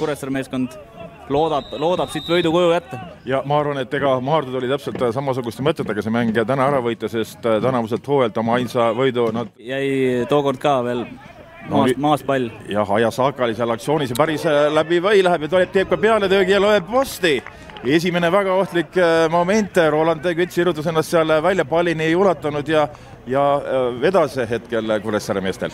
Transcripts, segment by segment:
Kuressaare meeskond loodab siit võidu koju jätta. Ja ma arvan, et ega Maardud oli täpselt samasuguste mõtetega see mäng täna ära võita, sest tänavuselt hooajalt oma ainsa võidu nad jäi tookord ka veel maas pall. Jah, Aja Saaka oli seal aktsioonis ja päris läbi või läheb ja teeb ka peale töögi ja loeb posti. Esimene väga ohtlik moment, Roland Kütt sirutas ennast seal välja, pallini ei ulatanud ja vedas hetkel Kuressaare meestel.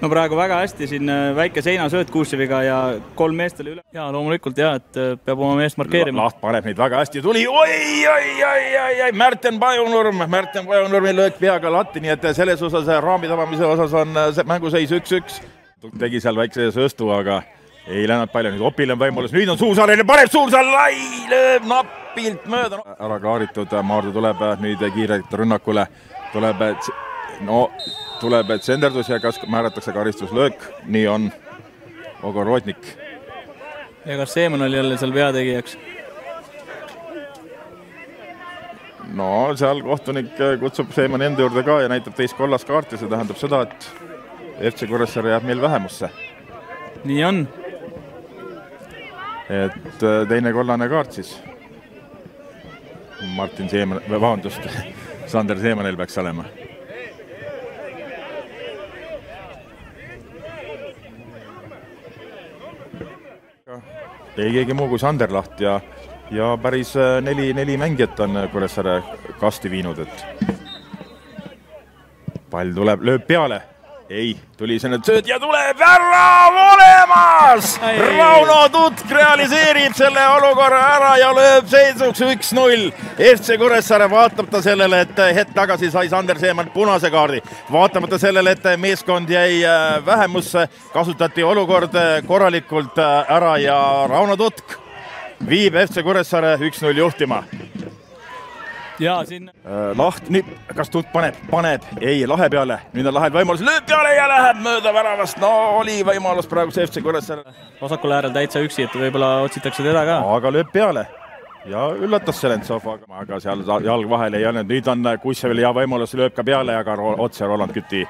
No praegu väga hästi, siin väike seinasööt Kuuseviga ja 3 meest oli üle. Ja loomulikult et peab oma meest markeerima. Laht paneb neid väga hästi, tuli Märten Pajunurmi löök peaga latti, nii et selles osas raami tabamise osas on mänguseis 1-1. Tegi seal väikse sööstu, aga ei läinud palju, nüüd Opil on võimalus, nüüd on Suursaarel ja paneb Suursaar lai, lööb napilt mööda. Ära klaaritud, Maardu tuleb nüüd kiirelt rünnakule, tuleb tsenderdus ja kas määratakse karistuslöök, nii on Ogorotnik. Ja kas Seeman oli jälle seal veategijaks? No seal kohtunik kutsub Seemani enda juurde ka ja näitab teist kollast kaarti, see tähendab seda, et FC Kuressaare jääb meil vähemusse. Nii on. Et teine kollane kaart siis. Martin Seeman, vabandust, Sander Seemanil peaks olema. Ei keegi muu kui Sander Laht ja päris 4 mängijat on Kuressaare kasti viinud, et pall tuleb, lööb peale. Ei, tuli selle sööd ja tuleb ära olemas! Rauno Tutk realiseerib selle olukorra ära ja lööb seisuks 1-0. FC Kuressaare vaatamata sellele, et hetk tagasi sai Sander Seeman punase kaardi. Vaatamata sellele, et meeskond jäi vähemusse, kasutati olukord korralikult ära ja Rauno Tutk viib FC Kuressaare 1-0 juhtima. Ja siin Laht, nüüd, kas Tutk paneb, ei, lahe peale, nüüd on lahel võimalus, lööb peale ja läheb mööda väravast, no oli võimalus praegu see FC Kuressaare. Vasakul äärel täitsa üksi, et võib-olla otsitakse teda ka. Aga lööb peale ja üllatas Selentsov, aga seal jalg vahel ei olnud, nüüd on Kussevil hea võimalus, lööb ka peale, aga otse Roland Küti.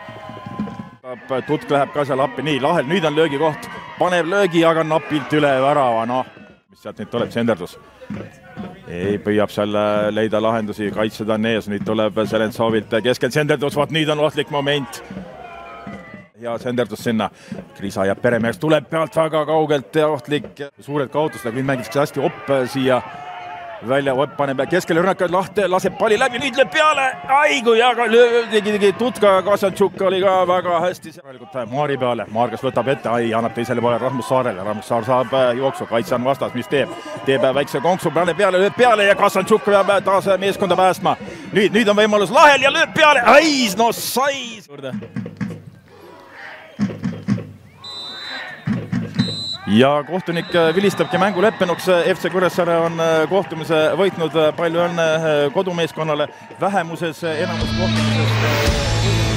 Tutk läheb ka seal appi, nii lahel, nüüd on löögi koht, paneb löögi, aga napilt üle värava, noh, mis sealt nüüd tuleb, tsenderdus. Ei, püüab seal leida lahendusi, kaitsed on ees, nüüd tuleb Selentsovilt keskel tsenderdus, vaat nüüd on ohtlik moment. Ja tsenderdus sinna, Krisa jääb peremeheks, tuleb pealt väga kaugelt ja ohtlik. Suured kaotused, aga nüüd mängitakse hästi Opp siia välja, Opp paneb keskele rünnakad lahti, laseb palli läbi, nüüd lööb peale, aigu ja tegi Tutka, Kasantšuk oli ka väga hästi. Maari peale, Maar kas võtab ette, annab teisele poole Rasmus Saarele, Rasmus Saar saab jooksu, kaitse on vastas, mis teeb väikse konksu, lööb peale ja Kasantšuk peab taas meeskonda päästma. Nüüd on võimalus lahel ja lööb peale, no sai! Ja kohtunik vilistabki mängu leppenuks, FC Kuressaare on kohtumise võitnud, palju õnne kodumeeskonnale, vähemuses enamus kohtumisest